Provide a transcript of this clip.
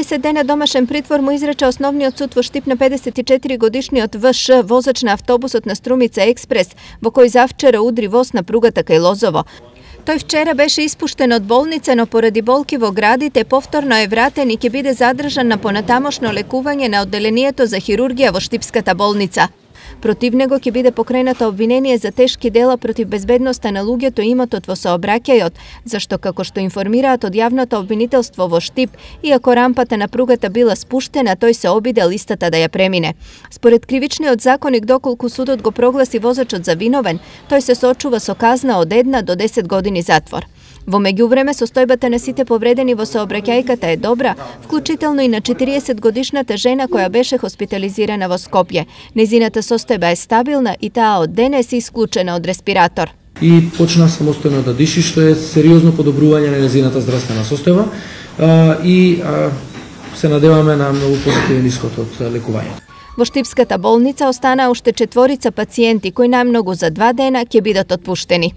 30 дена домашен притвор му изрече основниот суд во Штип на 54-годишниот ВШ, возач на автобусот на Струмица Експрес, во кој завчера удри воз на пругата кај Лозово. Тој вчера беше испуштен од болница, но поради болки во градите повторно е вратен и ќе биде задржан на понатамошно лекување на одделението за хирургија во Штипската болница. Против него ќе биде покренато обвинение за тешки дела против безбедноста на луѓето и имотот во сообраќајот, зашто како што информираат од јавното обвинителство во Штип, иако рампата на пругата била спуштена, тој се обидел истата да ја премине. Според кривичниот законник, доколку судот го прогласи возачот за виновен, тој се соочува со казна од 1 до 10 години затвор. Во меѓувреме, состојбата на сите повредени во сообраќајката е добра, вклучително и на 40-годишната жена која беше хоспитализирана во Скопје. Незината состојба е стабилна и таа од денес е исклучена од респиратор. И почна самостојно да диши, што е сериозно подобрување на незината здравствена состојба и се надеваме на многу позитивен исход од лекувањето. Во Штипската болница останаа уште 4 пациенти кои најмногу за 2 дена ќе бидат отпуштени.